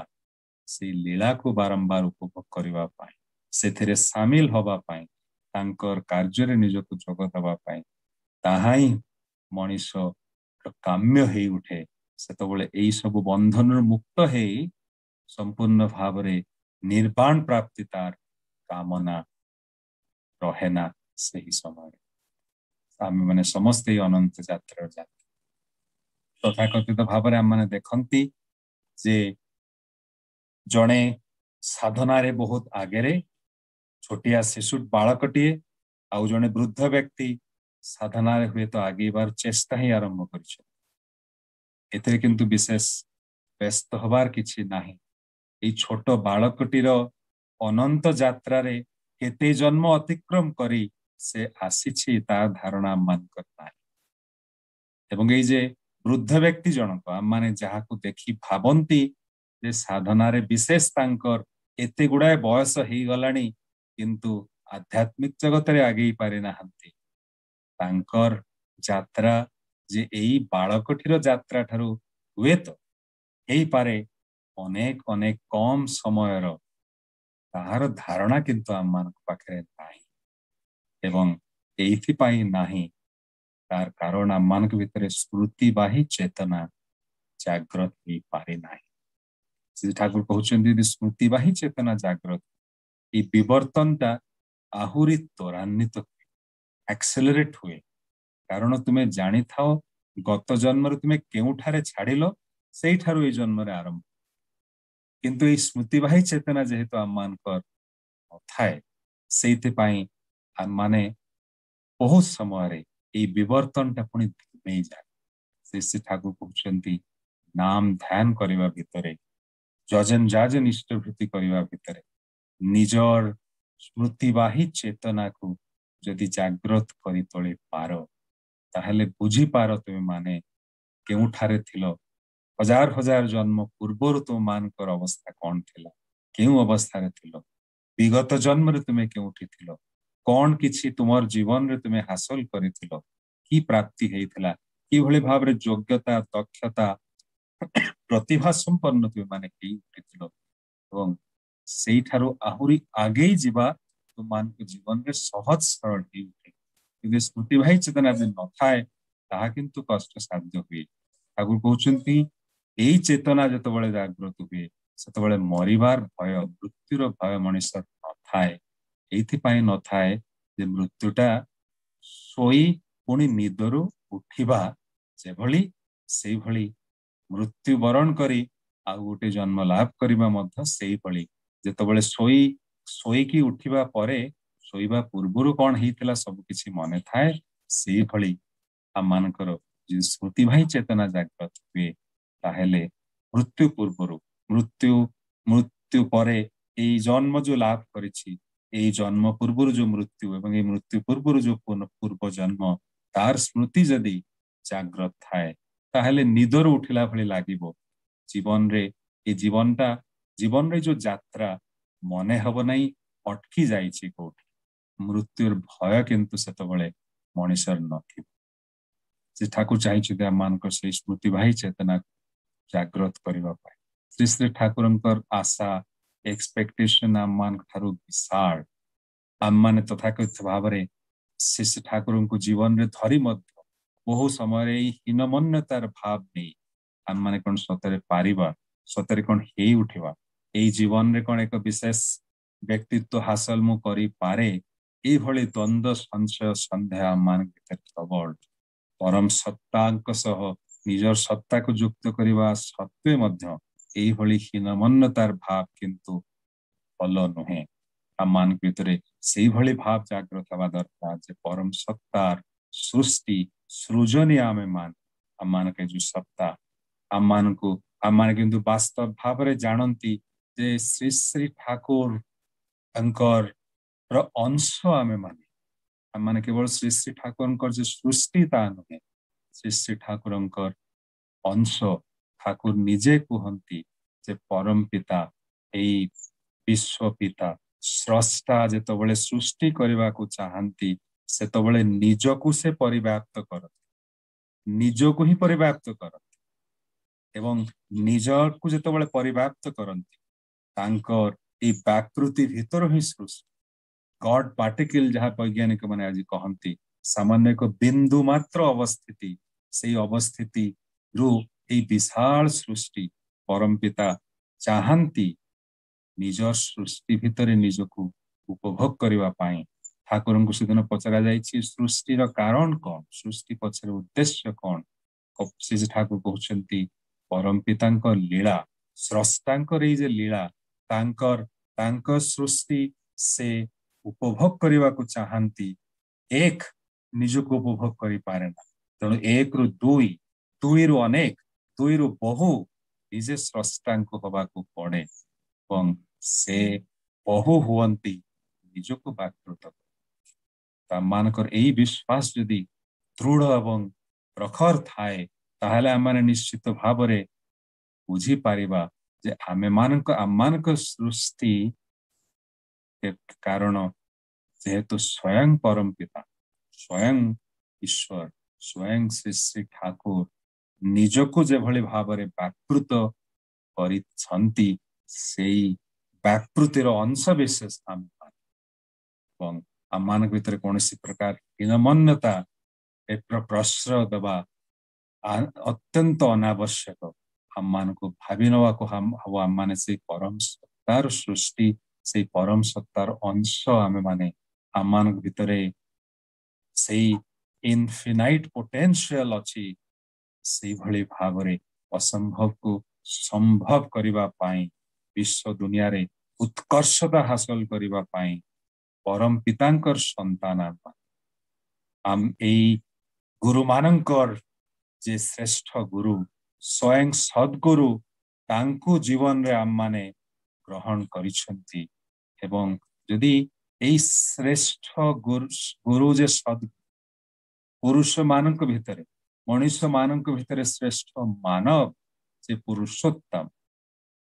ସେଇ ଲୀଳାକୁ ବାରମ୍ବାର ଉପଭୋଗ କରିବା ପାଇଁ, ସେଥିରେ ସାମିଲ ହବା ପାଇଁ, ତାଙ୍କର କାର୍ଯ୍ୟରେ ନିଜକୁ ଯୋଗ ଦେବା ପାଇଁ, ତାହା ହିଁ ମଣିଷ କାମ୍ୟ ହେଇ ଉଠେ। ସେତେବେଳେ ଏଇ ସବୁ ବନ୍ଧନରୁ ମୁକ୍ତ ହେଇ ସମ୍ପୂର୍ଣ୍ଣ ଭାବରେ ନିର୍ବାଣ ପ୍ରାପ୍ତି ତାର କାମନା ରହେ ନା ସେହି ସମୟରେ। ଆମେ ମାନେ ସମସ୍ତେ ଏଇ ଅନନ୍ତ ଯାତ୍ରାର ଯାତ୍ରୀ। ତଥାକଥିତ ଭାବରେ ଆମମାନେ ଦେଖନ୍ତି ଯେ ଜଣେ ସାଧନାରେ ବହୁତ ଆଗରେ ଛୋଟିଆ ଶିଶୁ ବାଳକଟିଏ, ଆଉ ଜଣେ ବୃଦ୍ଧ ବ୍ୟକ୍ତି ସାଧନାରେ ହୁଏତ ଆଗେଇବାର ଚେଷ୍ଟା ହିଁ ଆରମ୍ଭ କରିଛନ୍ତି। ଏଥିରେ କିନ୍ତୁ ବିଶେଷ ବ୍ୟସ୍ତ ହବାର କିଛି ନାହିଁ। ଏଇ ଛୋଟ ବାଳକଟିର ଅନନ୍ତ ଯାତ୍ରାରେ କେତେ ଜନ୍ମ ଅତିକ୍ରମ କରି ସେ ଆସିଛି, ତା ଧାରଣା ଆମମାନଙ୍କର ନାହିଁ। ଏବଂ ଏଇ ଯେ ବୃଦ୍ଧ ବ୍ୟକ୍ତି ଜଣକ, ଆମମାନେ ଯାହାକୁ ଦେଖି ଭାବନ୍ତି ଯେ ସାଧନାରେ ବିଶେଷ ତାଙ୍କର ଏତେ ଗୁଡାଏ ବୟସ ହେଇଗଲାଣି, କିନ୍ତୁ ଆଧ୍ୟାତ୍ମିକ ଜଗତରେ ଆଗେଇ ପାରିନାହାନ୍ତି, ତାଙ୍କର ଯାତ୍ରା ଯେ ଏଇ ବାଳକଟିର ଯାତ୍ରା ଠାରୁ ହୁଏତ ହେଇପାରେ ଅନେକ ଅନେକ କମ ସମୟର, ତାହାର ଧାରଣା କିନ୍ତୁ ଆମମାନଙ୍କ ପାଖରେ ନାହିଁ। ଏବଂ ଏଇଥିପାଇଁ ନାହିଁ, ତାର କାରଣ ଆମମାନଙ୍କ ଭିତରେ ସ୍ମୃତିବାହୀ ଚେତନା ଜାଗ୍ରତ ହେଇପାରେ ନାହିଁ। ଶ୍ରୀ ଠାକୁର କହୁଛନ୍ତି, ଯଦି ସ୍ମୃତିବାହୀ ଚେତନା ଜାଗ୍ରତ, ଏଇ ବିବର୍ତ୍ତନଟା ଆହୁରି ତ୍ୱରାନ୍ୱିତ ହୁଏ, ଆକ୍ସେଲରେଟ ହୁଏ। କାରଣ ତୁମେ ଜାଣିଥାଅ ଗତ ଜନ୍ମରେ ତୁମେ କେଉଁଠାରେ ଛାଡ଼ିଲ, ସେଇଠାରୁ ଏଇ ଜନ୍ମରେ ଆରମ୍ଭ। କିନ୍ତୁ ଏଇ ସ୍ମୃତିବାହୀ ଚେତନା ଯେହେତୁ ଆମମାନଙ୍କର ନଥାଏ, ସେଇଥିପାଇଁ ଆମମାନେ ବହୁତ ସମୟରେ ଏଇ ବିବର୍ତ୍ତନଟା ପୁଣି ଧିମେଇ ଯାଏ। ଶ୍ରୀ ଶ୍ରୀ ଠାକୁର କହୁଛନ୍ତି, ନାମ ଧ୍ୟାନ କରିବା ଭିତରେ, ଯଜନ ଯାଜନ ଇଷ୍ଟଭୃତି କରିବା ଭିତରେ ନିଜର ସ୍ମୃତିବାହୀ ଚେତନାକୁ ଯଦି ଜାଗ୍ରତ କରି ତୋଳି ପାର, ତାହେଲେ ବୁଝିପାର ତୁମେ ମାନେ କେଉଁଠାରେ ଥିଲ, ହଜାର ହଜାର ଜନ୍ମ ପୂର୍ବରୁ ତୁମମାନଙ୍କର ଅବସ୍ଥା କଣ ଥିଲା, କେଉଁ ଅବସ୍ଥାରେ ଥିଲ, ବିଗତ ଜନ୍ମରେ ତୁମେ କେଉଁଠି ଥିଲ, କଣ କିଛି ତୁମର ଜୀବନରେ ତୁମେ ହାସଲ କରିଥିଲ, କି ପ୍ରାପ୍ତି ହେଇଥିଲା, କିଭଳି ଭାବରେ ଯୋଗ୍ୟତା, ଦକ୍ଷତା, ପ୍ରତିଭା ସମ୍ପନ୍ନ ତୁମେ ମାନେ ହେଇ ଉଠିଥିଲ, ଏବଂ ସେଇଠାରୁ ଆହୁରି ଆଗେଇ ଯିବା ତୁମମାନଙ୍କ ଜୀବନରେ ସହଜ ସରଳ ହେଇ ଉଠେ। କିନ୍ତୁ ସ୍ମୃତିବାହୀ ଚେତନା ଯଦି ନଥାଏ, ତାହା କିନ୍ତୁ କଷ୍ଟସାଧ୍ୟ ହୁଏ। ଠାକୁର କହୁଛନ୍ତି, ଏଇ ଚେତନା ଯେତେବେଳେ ଜାଗ୍ରତ ହୁଏ, ସେତେବେଳେ ମରିବାର ଭୟ, ମୃତ୍ୟୁର ଭୟ ମଣିଷ ନଥାଏ। ଏଇଥିପାଇଁ ନଥାଏ ଯେ ମୃତ୍ୟୁଟା ଶୋଇ ପୁଣି ନିଦରୁ ଉଠିବା ଯେଭଳି, ସେଇଭଳି ମୃତ୍ୟୁବରଣ କରି ଆଉ ଗୋଟେ ଜନ୍ମ ଲାଭ କରିବା ମଧ୍ୟ ସେଇଭଳି। ଯେତେବେଳେ ଶୋଇ ଶୋଇକି ଉଠିବା ପରେ ଶୋଇବା ପୂର୍ବରୁ କଣ ହେଇଥିଲା ସବୁ କିଛି ମନେ ଥାଏ, ସେଇଭଳି ଆମମାନଙ୍କର ଯଦି ସ୍ମୃତିବାହୀ ଚେତନା ଜାଗ୍ରତ ହୁଏ, ତାହେଲେ ମୃତ୍ୟୁ ପୂର୍ବରୁ, ମୃତ୍ୟୁ ମୃତ୍ୟୁ ପରେ ଏଇ ଜନ୍ମ ଯୋଉ ଲାଭ କରିଛି, ଏଇ ଜନ୍ମ ପୂର୍ବରୁ ଯୋଉ ମୃତ୍ୟୁ ଏବଂ ଏଇ ମୃତ୍ୟୁ ପୂର୍ବରୁ ଯୋଉ ପୂର୍ବ ଜନ୍ମ, ତାର ସ୍ମୃତି ଯଦି ଜାଗ୍ରତ ଥାଏ, ତାହେଲେ ନିଦରୁ ଉଠିଲା ଭଳି ଲାଗିବ। ଜୀବନରେ ଏ ଜୀବନଟା, ଜୀବନରେ ଯୋଉ ଯାତ୍ରା ମନେ ହବ ନାହିଁ ଅଟକି ଯାଇଛି କୋଉଠି। ମୃତ୍ୟୁର ଭୟ କିନ୍ତୁ ସେତେବେଳେ ମଣିଷର ନଥିବ। ସେ ଠାକୁର ଚାହିଁଛନ୍ତି ଆମମାନଙ୍କର ସେଇ ସ୍ମୃତିବାହୀ ଚେତନା ଜାଗ୍ରତ କରିବା ପାଇଁ। ଶ୍ରୀ ଶ୍ରୀ ଠାକୁରଙ୍କର ଆଶା, ଏକ୍ସପେକ୍ଟେସନ ଆମମାନଙ୍କ ଠାରୁ ବିଶାଳ। ଆମମାନେ ତଥାକଥିତ ଭାବରେ ଶ୍ରୀ ଶ୍ରୀ ଠାକୁରଙ୍କୁ ଜୀବନରେ ଧରି ମଧ୍ୟ ବହୁ ସମୟରେ ଏଇ ହୀନମନ୍ୟତାର ଭାବ ନେଇ ଆମମାନେ କଣ ସତରେ ପାରିବା, ସତରେ କଣ ହେଇ ଉଠିବା, ଏଇ ଜୀବନରେ କଣ ଏକ ବିଶେଷ ବ୍ୟକ୍ତିତ୍ୱ ହାସଲ ମୁଁ କରିପାରେ, ଏଇଭଳି ଦ୍ୱନ୍ଦ୍ୱ, ସଂଶୟ, ସନ୍ଦେହ ଆମମାନଙ୍କ ଭିତରେ ପ୍ରବଳ। ପରମ ସତ୍ତାଙ୍କ ସହ ନିଜର ସତ୍ତାକୁ ଯୁକ୍ତ କରିବା ସତ୍ତ୍ୱେ ମଧ୍ୟ ଏଇଭଳି ହୀନମନ୍ୟତାର ଭାବ କିନ୍ତୁ ଭଲ ନୁହେଁ। ଆମମାନଙ୍କ ଭିତରେ ସେଇଭଳି ଭାବ ଜାଗ୍ରତ ହେବା ଦରକାର ଯେ ପରମ ସତ୍ତାର ସୃଷ୍ଟି, ସୃଜନୀ ଆମେ ମାନ। ଆମମାନଙ୍କ ଯୋଉ ସତ୍ତା, ଆମମାନଙ୍କୁ ଆମମାନେ କିନ୍ତୁ ବାସ୍ତବ ଭାବରେ ଜାଣନ୍ତି ଯେ ଶ୍ରୀ ଶ୍ରୀ ଠାକୁରଙ୍କର ଅଂଶ ଆମେ ମାନେ। ଆମମାନେ କେବଳ ଶ୍ରୀ ଶ୍ରୀ ଠାକୁରଙ୍କର ଯେ ସୃଷ୍ଟି ତା ନୁହେଁ, ଶ୍ରୀ ଶ୍ରୀ ଠାକୁରଙ୍କର ଅଂଶ। ଠାକୁର ନିଜେ କୁହନ୍ତି ଯେ ପରମ ପିତା, ଏଇ ବିଶ୍ୱ ପିତା, ସ୍ରଷ୍ଟା ଯେତେବେଳେ ସୃଷ୍ଟି କରିବାକୁ ଚାହାନ୍ତି, ସେତେବେଳେ ନିଜକୁ ସେ ପରିବ୍ୟାପ୍ତ କରନ୍ତି, ନିଜକୁ ହିଁ ପରିବ୍ୟାପ୍ତ କରନ୍ତି। ଏବଂ ନିଜକୁ ଯେତେବେଳେ ପରିବ୍ୟାପ୍ତ କରନ୍ତି, ତାଙ୍କର ଏଇ ବ୍ୟାକୃତି ଭିତରୁ ହିଁ ସୃଷ୍ଟି। ଗଡ୍ ପାର୍ଟିକିଲ ଯାହା ବୈଜ୍ଞାନିକ ମାନେ ଆଜି କହନ୍ତି, ସାମାନ୍ୟ ଏକ ବିନ୍ଦୁ ମାତ୍ର ଅବସ୍ଥିତି, ସେଇ ଅବସ୍ଥିତିରୁ ଏଇ ବିଶାଳ ସୃଷ୍ଟି। ପରମ ପିତା ଚାହାନ୍ତି ନିଜ ସୃଷ୍ଟି ଭିତରେ ନିଜକୁ ଉପଭୋଗ କରିବା ପାଇଁ। ଠାକୁରଙ୍କୁ ସେଦିନ ପଚରା ଯାଇଛି, ସୃଷ୍ଟିର କାରଣ କଣ, ସୃଷ୍ଟି ପଛରେ ଉଦ୍ଦେଶ୍ୟ କଣ? ଶ୍ରୀ ଠାକୁର କହୁଛନ୍ତି, ପରମ ପିତାଙ୍କ ଲୀଳା, ସ୍ରଷ୍ଟାଙ୍କର ଏଇ ଯେ ଲୀଳା, ତାଙ୍କର ତାଙ୍କ ସୃଷ୍ଟି ସେ ଉପଭୋଗ କରିବାକୁ ଚାହାନ୍ତି। ଏକ ନିଜକୁ ଉପଭୋଗ କରିପାରେ ନା, ତେଣୁ ଏକରୁ ଦୁଇ, ଦୁଇରୁ ଅନେକ, ଦୁଇରୁ ବହୁ ନିଜେ ସ୍ରଷ୍ଟାଙ୍କୁ ହବାକୁ ପଡେ ଏବଂ ସେ ବହୁ ହୁଅନ୍ତି ନିଜକୁ ବ୍ୟାକୃତ। ଆମମାନଙ୍କର ଏଇ ବିଶ୍ୱାସ ଯଦି ଦୃଢ ଏବଂ ପ୍ରଖର ଥାଏ, ତାହେଲେ ଆମମାନେ ନିଶ୍ଚିତ ଭାବରେ ବୁଝିପାରିବା ଯେ ଆମେମାନଙ୍କ ଆମମାନଙ୍କ ସୃଷ୍ଟି କାରଣ ଯେହେତୁ ସ୍ୱୟଂ ପରମ ପିତା, ସ୍ୱୟଂ ଈଶ୍ୱର, ସ୍ୱୟଂ ଶ୍ରୀ ଶ୍ରୀ ଠାକୁର ନିଜକୁ ଯେଭଳି ଭାବରେ ବ୍ୟାକୃତ କରିଛନ୍ତି, ସେଇ ବ୍ୟାକୃତିର ଅଂଶ ବିଶେଷ ଆମେ ଏବଂ ଆମମାନଙ୍କ ଭିତରେ କୌଣସି ପ୍ରକାର ହୀନମନ୍ୟତା ପ୍ରଶ୍ରୟ ଦେବା ଅତ୍ୟନ୍ତ ଅନାବଶ୍ୟକ। ଆମମାନଙ୍କୁ ଭାବି ନେବାକୁ ହବ ଆମମାନେ ସେଇ ପରମ ସତ୍ତାର ସୃଷ୍ଟି, ସେଇ ପରମ ସତ୍ତାର ଅଂଶ ଆମେମାନେ। ଆମମାନଙ୍କ ଭିତରେ ସେଇ ଇନଫିନାଇଟ ପୋଟେନ୍ସିଆଲ ଅଛି, ସେଇଭଳି ଭାବରେ ଅସମ୍ଭବକୁ ସମ୍ଭବ କରିବା ପାଇଁ, ବିଶ୍ୱ ଦୁନିଆରେ ଉତ୍କର୍ଷତା ହାସଲ କରିବା ପାଇଁ ପରମ ପିତାଙ୍କର ସନ୍ତାନ ଆମ। ଏଇ ଗୁରୁମାନଙ୍କର ଯେ ଶ୍ରେଷ୍ଠ ଗୁରୁ ସ୍ୱୟଂ ସଦ୍ଗୁରୁ, ତାଙ୍କୁ ଜୀବନରେ ଆମମାନେ ଗ୍ରହଣ କରିଛନ୍ତି। ଏବଂ ଯଦି ଏଇ ଶ୍ରେଷ୍ଠ ଗୁରୁ ଗୁରୁ ଯେ ସଦ୍ ପୁରୁଷ ମାନଙ୍କ ଭିତରେ, ମଣିଷ ମାନଙ୍କ ଭିତରେ ଶ୍ରେଷ୍ଠ ମାନବ ଯେ ପୁରୁଷୋତ୍ତମ,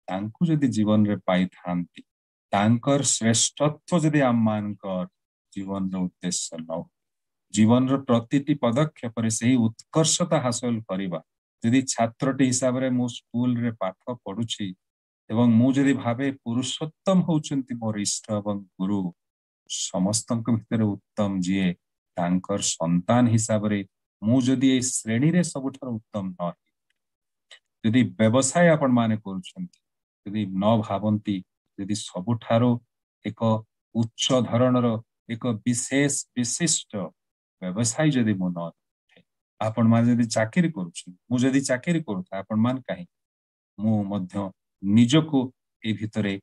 ତାଙ୍କୁ ଯଦି ଜୀବନରେ ପାଇଥାନ୍ତି, ତାଙ୍କର ଶ୍ରେଷ୍ଠତ୍ୱ ଯଦି ଆମମାନଙ୍କର ଜୀବନର ଉଦ୍ଦେଶ୍ୟ ନ, ଜୀବନର ପ୍ରତିଟି ପଦକ୍ଷେପରେ ସେହି ଉତ୍କର୍ଷତା ହାସଲ କରିବା। ଯଦି ଛାତ୍ରଟି ହିସାବରେ ମୁଁ ସ୍କୁଲରେ ପାଠ ପଢୁଛି ଏବଂ ମୁଁ ଯଦି ଭାବେ ପୁରୁଷୋତ୍ତମ ହଉଛନ୍ତି ମୋର ଇଷ୍ଟ ଏବଂ ଗୁରୁ, ସମସ୍ତଙ୍କ ଭିତରେ ଉତ୍ତମ ଯିଏ, ତାଙ୍କର ସନ୍ତାନ ହିସାବରେ ମୁଁ ଯଦି ଏଇ ଶ୍ରେଣୀରେ ସବୁଠାରୁ ଉତ୍ତମ ନ ହେଇ, ଯଦି ବ୍ୟବସାୟ ଆପଣ ମାନେ କରୁଛନ୍ତି, ଯଦି ନ ଭାବନ୍ତି ଯଦି ସବୁଠାରୁ ଏକ ଉଚ୍ଚ ଧରଣର ଏକ ବିଶେଷ ବିଶିଷ୍ଟ ବ୍ୟବସାୟୀ ଯଦି ମୁଁ ନ ଥାଏ, ଆପଣ ମାନେ ଯଦି ଚାକିରି କରୁଛନ୍ତି, ମୁଁ ଯଦି ଚାକିରି କରୁଥାଏ, ଆପଣ ମାନେ କାହିଁକି, ମୁଁ ମଧ୍ୟ ନିଜକୁ ଏଇ ଭିତରେ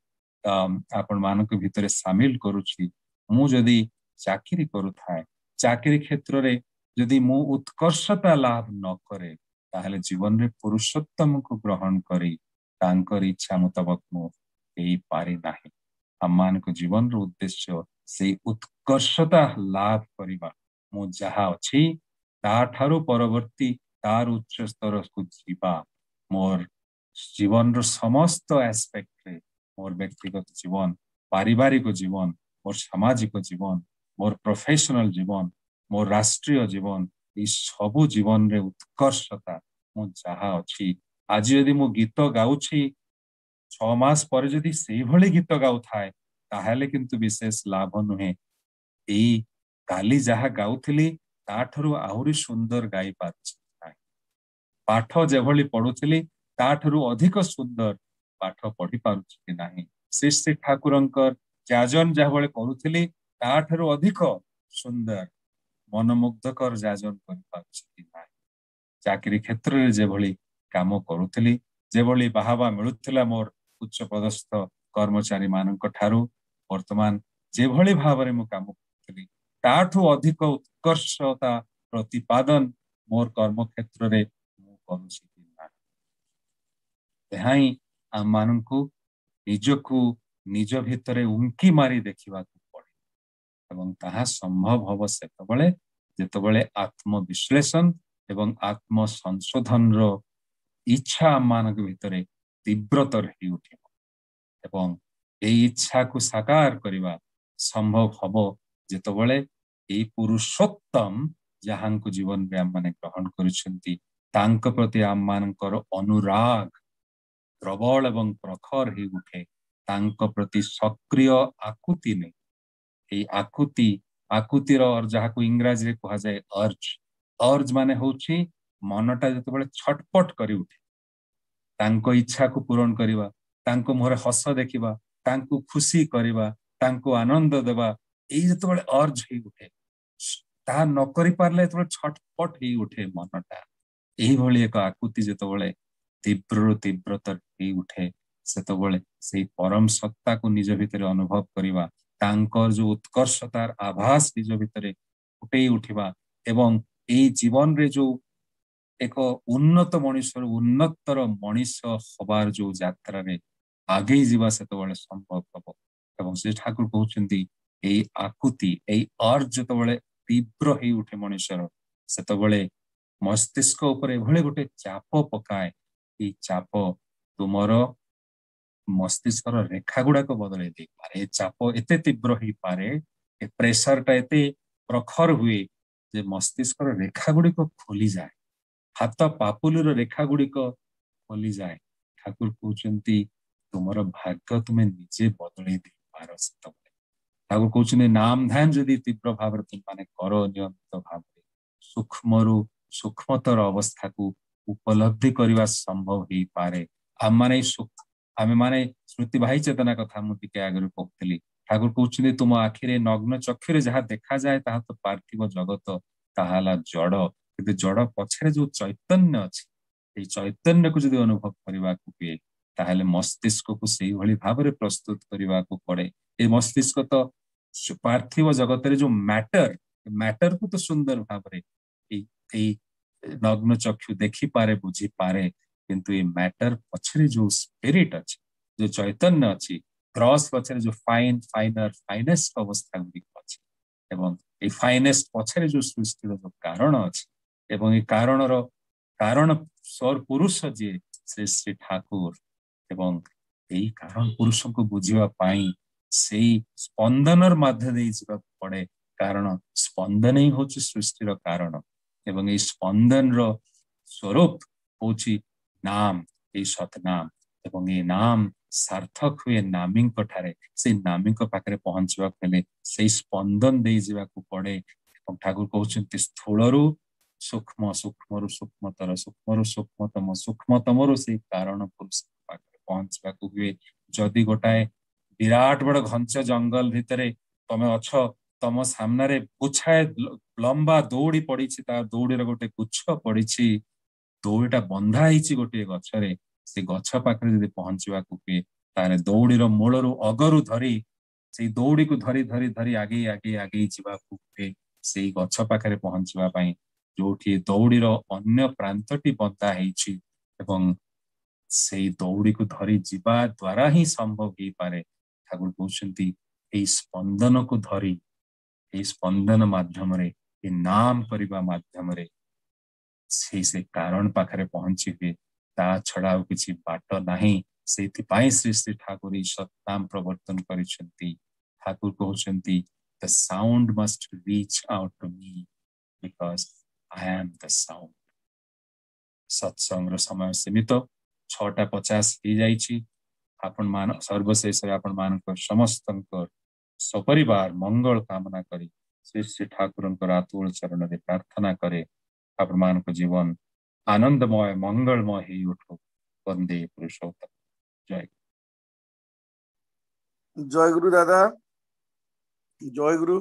ଆପଣ ମାନଙ୍କ ଭିତରେ ସାମିଲ କରୁଛି। ମୁଁ ଯଦି ଚାକିରି କରୁଥାଏ, ଚାକିରି କ୍ଷେତ୍ରରେ ଯଦି ମୁଁ ଉତ୍କର୍ଷତା ଲାଭ ନ କରେ, ତାହେଲେ ଜୀବନରେ ପୁରୁଷୋତ୍ତମକୁ ଗ୍ରହଣ କରି ତାଙ୍କର ଇଚ୍ଛା ମୁତାବକ ମୁଁ ହେଇପାରି ନାହିଁ। ଆମମାନଙ୍କ ଜୀବନର ଉଦ୍ଦେଶ୍ୟ ସେଇ ଉତ୍କର୍ଷତା ଲାଭ କରିବା। ମୁଁ ଯାହା ଅଛି ତାଠାରୁ ପରବର୍ତ୍ତୀ ତାର ଉଚ୍ଚ ସ୍ତରକୁ ଯିବା। ମୋର ଜୀବନର ସମସ୍ତ ଆସ୍ପେକ୍ଟରେ, ମୋର ବ୍ୟକ୍ତିଗତ ଜୀବନ, ପାରିବାରିକ ଜୀବନ, ମୋର ସାମାଜିକ ଜୀବନ, ମୋର ପ୍ରଫେସନାଲ ଜୀବନ, ମୋର ରାଷ୍ଟ୍ରୀୟ ଜୀବନ, ଏଇ ସବୁ ଜୀବନରେ ଉତ୍କର୍ଷତା ମୁଁ ଯାହା ଅଛି। ଆଜି ଯଦି ମୁଁ ଗୀତ ଗାଉଛି, ଛଅ ମାସ ପରେ ଯଦି ସେଇଭଳି ଗୀତ ଗାଉଥାଏ, ତାହେଲେ କିନ୍ତୁ ବିଶେଷ ଲାଭ ନୁହେଁ। ଏଇ କାଲି ଯାହା ଗାଉଥିଲି ତାଠାରୁ ଆହୁରି ସୁନ୍ଦର ଗାଇ ପାରୁଛି ନାହିଁ, ପାଠ ଯେଭଳି ପଢୁଥିଲି ତାଠାରୁ ଅଧିକ ସୁନ୍ଦର ପାଠ ପଢି ପାରୁଛି କି ନାହିଁ, ଶ୍ରୀ ଶ୍ରୀ ଠାକୁରଙ୍କର ଯାଜନ ଯାହାଭଳି କରୁଥିଲି ତାଠାରୁ ଅଧିକ ସୁନ୍ଦର ମନମୁଗ୍ଧକର ଯାଜନ କରିପାରୁଛି କି ନାହିଁ, ଚାକିରି କ୍ଷେତ୍ରରେ ଯେଭଳି କାମ କରୁଥିଲି, ଯେଭଳି ବାହାବା ମିଳୁଥିଲା ମୋର ଉଚ୍ଚ ପଦସ୍ଥ କର୍ମଚାରୀ ମାନଙ୍କ ଠାରୁ, ବର୍ତ୍ତମାନ ଯେଭଳି ଭାବରେ ମୁଁ କାମ କରୁଥିଲି ତାଠୁ ଅଧିକ ଉତ୍କର୍ଷତା ପ୍ରତିପାଦନ ମୋର କର୍ମକ୍ଷେତ୍ରରେ ମୁଁ କରୁଛି କି ନାହିଁ। ଏହା ହିଁ ଆମମାନଙ୍କୁ ନିଜକୁ ନିଜ ଭିତରେ ଉଙ୍କି ମାରି ଦେଖିବାକୁ ପଡେ, ଏବଂ ତାହା ସମ୍ଭବ ହବ ସେତେବେଳେ ଯେତେବେଳେ ଆତ୍ମବିଶ୍ଳେଷଣ ଏବଂ ଆତ୍ମସଂଶୋଧନର ଇଚ୍ଛା ଆମମାନଙ୍କ ଭିତରେ ତୀବ୍ରତର ହେଇ ଉଠିବ, ଏବଂ ଏଇ ଇଚ୍ଛାକୁ ସାକାର କରିବା ସମ୍ଭବ ହବ ଯେତେବେଳେ ଏଇ ପୁରୁଷୋତ୍ତମ ଯାହାଙ୍କୁ ଜୀବନରେ ଆମମାନେ ଗ୍ରହଣ କରିଛନ୍ତି ତାଙ୍କ ପ୍ରତି ଆମମାନଙ୍କର ଅନୁରାଗ ପ୍ରବଳ ଏବଂ ପ୍ରଖର ହେଇ ଉଠେ, ତାଙ୍କ ପ୍ରତି ସକ୍ରିୟ ଆକୁତି ନେଇ। ଏଇ ଆକୁତି, ଆକୁତିର ଯାହାକୁ ଇଂରାଜୀରେ କୁହାଯାଏ ଅର୍ଜ, ଅର୍ଜ ମାନେ ହଉଛି ମନଟା ଯେତେବେଳେ ଛଟପଟ କରି ଉଠେ, ତାଙ୍କ ଇଚ୍ଛାକୁ ପୂରଣ କରିବା, ତାଙ୍କ ମୁହଁରେ ହସ ଦେଖିବା, ତାଙ୍କୁ ଖୁସି କରିବା, ତାଙ୍କୁ ଆନନ୍ଦ ଦେବା, ଏଇ ଯେତେବେଳେ ଅର୍ଜ ହେଇ ଉଠେ, ତାହା ନ କରିପାରିଲେ ଯେତେବେଳେ ଛଟପଟ ହେଇ ଉଠେ ମନଟା, ଏଇଭଳି ଏକ ଆକୁତି ଯେତେବେଳେ ତୀବ୍ରରୁ ତୀବ୍ରତର ହେଇ ଉଠେ, ସେତେବେଳେ ସେଇ ପରମ ସତ୍ତାକୁ ନିଜ ଭିତରେ ଅନୁଭବ କରିବା, ତାଙ୍କର ଯୋଉ ଉତ୍କର୍ଷତାର ଆଭାସ ନିଜ ଭିତରେ ଫୁଟେଇ ଉଠିବା, ଏବଂ ଏଇ ଜୀବନରେ ଯୋଉ ଏକ ଉନ୍ନତ ମଣିଷରୁ ଉନ୍ନତର ମଣିଷ ହବାର ଯୋଉ ଯାତ୍ରାରେ ଆଗେଇ ଯିବା ସେତେବେଳେ ସମ୍ଭବ ହବ। ଏବଂ ସେ ଠାକୁର କହୁଛନ୍ତି ଏଇ ଆକୁତି, ଏଇ ଅର୍ଜ ଯେତେବେଳେ ତୀବ୍ର ହେଇ ଉଠେ ମଣିଷର, ସେତେବେଳେ ମସ୍ତିଷ୍କ ଉପରେ ଏଭଳି ଗୋଟେ ଚାପ ପକାଏ, ଏଇ ଚାପ ତୁମର ମସ୍ତିଷ୍କର ରେଖା ଗୁଡାକ ବଦଳେଇ ଦେଇପାରେ। ଏ ଚାପ ଏତେ ତୀବ୍ର ହେଇପାରେ, ଏ ପ୍ରେସରଟା ଏତେ ପ୍ରଖର ହୁଏ ଯେ ମସ୍ତିଷ୍କର ରେଖା ଗୁଡିକ ଖୋଲିଯାଏ, ହାତ ପାପୁଲିର ରେଖା ଗୁଡିକ ଖୋଲିଯାଏ। ଠାକୁର କହୁଛନ୍ତି ତୁମର ଭାଗ୍ୟ ତୁମେ ନିଜେ ବଦଳେଇ ଦେଇପାର। ସେତେବେଳେ ଠାକୁର କହୁଛନ୍ତି ନାମ ଧ୍ୟାନ ଯଦି ତୀବ୍ର ଭାବରେ ତୁମେ କର, ନିୟମିତ ଭାବରେ ସୂକ୍ଷ୍ମରୁ ସୂକ୍ଷ୍ମତର ଅବସ୍ଥାକୁ ଉପଲବ୍ଧି କରିବା ସମ୍ଭବ ହେଇପାରେ। ଆମମାନେ ଆମେମାନେ ସ୍ମୃତିବାହୀ ଚେତନା କଥା ମୁଁ ଟିକେ ଆଗରୁ କହୁଥିଲି। ଠାକୁର କହୁଛନ୍ତି ତୁମ ଆଖିରେ ନଗ୍ନ ଚକ୍ଷୁରେ ଯାହା ଦେଖାଯାଏ ତାହା ତ ପାର୍ଥିବ ଜଗତ, ତାହା ହେଲା ଜଡ, କିନ୍ତୁ ଜଡ ପଛରେ ଯୋଉ ଚୈତନ୍ୟ ଅଛି, ଏଇ ଚୈତନ୍ୟକୁ ଯଦି ଅନୁଭବ କରିବାକୁ ହୁଏ ତାହେଲେ ମସ୍ତିଷ୍କକୁ ସେଇଭଳି ଭାବରେ ପ୍ରସ୍ତୁତ କରିବାକୁ ପଡେ। ଏ ମସ୍ତିଷ୍କ ତ ପାର୍ଥିବ ଜଗତରେ ଯୋଉ ମ୍ୟାଟର, ମ୍ୟାଟରକୁ ତ ସୁନ୍ଦର ଭାବରେ ଏଇ ଏଇ ନଗ୍ନ ଚକ୍ଷୁ ଦେଖିପାରେ, ବୁଝିପାରେ, କିନ୍ତୁ ଏ ମ୍ୟାଟର ପଛରେ ଯୋଉ ସ୍ପିରିଟ ଅଛି, ଯୋଉ ଚୈତନ୍ୟ ଅଛି, କ୍ରସ୍ ପଛରେ ଯୋଉ ଫାଇନ ଫାଇନର ଫାଇନେଷ୍ଟ ଅବସ୍ଥା ଗୁଡିକ ଅଛି, ଏବଂ ଏଇ ଫାଇନେଷ୍ଟ ପଛରେ ଯୋଉ ସୃଷ୍ଟିର ଯୋଉ କାରଣ ଅଛି, ଏବଂ ଏଇ କାରଣର କାରଣ ସ୍ୱର ପୁରୁଷ ଯିଏ ଶ୍ରୀ ଶ୍ରୀ ଠାକୁର, ଏବଂ ଏଇ କାରଣ ପୁରୁଷଙ୍କୁ ବୁଝିବା ପାଇଁ ସେଇ ସ୍ପନ୍ଦନର ମାଧ୍ୟ ଦେଇ ଯିବାକୁ ପଡେ। କାରଣ ସ୍ପନ୍ଦନ ହିଁ ହଉଛି ସୃଷ୍ଟିର କାରଣ, ଏବଂ ଏଇ ସ୍ପନ୍ଦନର ସ୍ୱରୂପ ହଉଛି ନାମ, ଏଇ ସତନାମ, ଏବଂ ଏଇ ନାମ ସାର୍ଥକ ହୁଏ ନାମୀଙ୍କ ଠାରେ। ସେଇ ନାମୀଙ୍କ ପାଖରେ ପହଞ୍ଚିବାକୁ ହେଲେ ସେଇ ସ୍ପନ୍ଦନ ଦେଇ ଯିବାକୁ ପଡେ। ଏବଂ ଠାକୁର କହୁଛନ୍ତି ସ୍ଥୂଳରୁ ସୂକ୍ଷ୍ମ, ସୂକ୍ଷ୍ମରୁ ସୂକ୍ଷ୍ମତର, ସୂକ୍ଷ୍ମରୁ ସୂକ୍ଷ୍ମତମ, ସୂକ୍ଷ୍ମତମରୁ ସେଇ କାରଣ ପୁରୁଷ ପାଖରେ ପହଞ୍ଚିବାକୁ ହୁଏ। ଯଦି ଗୋଟାଏ ବିରାଟ ବଡ ଘଞ୍ଚ ଜଙ୍ଗଲ ଭିତରେ ତମେ ଅଛ, ତମ ସାମ୍ନାରେ ଗୁଚ୍ଛାଏ ଲମ୍ବା ଦଉଡି ପଡିଛି, ତା ଦଉଡିର ଗୋଟେ ଗୁଚ୍ଛ ପଡିଛି, ଦଉଡିଟା ବନ୍ଧା ହେଇଛି ଗୋଟିଏ ଗଛରେ, ସେ ଗଛ ପାଖରେ ଯଦି ପହଞ୍ଚିବାକୁ ହୁଏ ତାହେଲେ ଦଉଡିର ମୂଳରୁ ଅଗରୁ ଧରି ସେଇ ଦଉଡିକୁ ଧରି ଧରି ଧରି ଆଗେଇ ଆଗେଇ ଆଗେଇ ଯିବାକୁ ହୁଏ ସେଇ ଗଛ ପାଖରେ ପହଞ୍ଚିବା ପାଇଁ, ଯୋଉଠି ଦଉଡିର ଅନ୍ୟ ପ୍ରାନ୍ତଟି ବନ୍ଧା ହେଇଛି। ଏବଂ ସେଇ ଦଉଡିକୁ ଧରି ଯିବା ଦ୍ଵାରା ହିଁ ସମ୍ଭବ ହେଇପାରେ। ଠାକୁର କହୁଛନ୍ତି ଏଇ ସ୍ପନ୍ଦନକୁ ଧରି, ଏଇ ସ୍ପନ୍ଦନ ମାଧ୍ୟମରେ, ଏ ନାମ କରିବା ମାଧ୍ୟମରେ ସେଇ ସେ କାରଣ ପାଖରେ ପହଞ୍ଚି ହୁଏ। ତା ଛଡା ଆଉ କିଛି ବାଟ ନାହିଁ। ସେଇଥିପାଇଁ ଶ୍ରୀ ଶ୍ରୀ ଠାକୁର ଏଇ ସତନାମ ପ୍ରବର୍ତ୍ତନ କରିଛନ୍ତି। ଠାକୁର କହୁଛନ୍ତି the sound must reach out to me because I am the sound। ସତ୍ସଙ୍ଗର ସମୟ ସୀମିତ, ଛଅଟା ପଚାଶ ହେଇଯାଇଛି। ଆପଣ ମାନ ସର୍ବଶେଷରେ ଆପଣ ମାନଙ୍କ ସମସ୍ତଙ୍କ ସପରିବାର ମଙ୍ଗଳ କାମନା କରି ଶ୍ରୀ ଶ୍ରୀ ଠାକୁରଙ୍କର ଆତୁଳ ଚରଣରେ ପ୍ରାର୍ଥନା କରେ, ଆପଣମାନଙ୍କ ଜୀବନ ଆନନ୍ଦମୟ ମଙ୍ଗଳମୟ ହେଇ ଉଠୁ। ବନ୍ଦେ ପୁରୁଷୋତ୍ତମ। ଜୟ ଜୟ ଗୁରୁ ଦାଦା, ଜୟ ଗୁରୁ।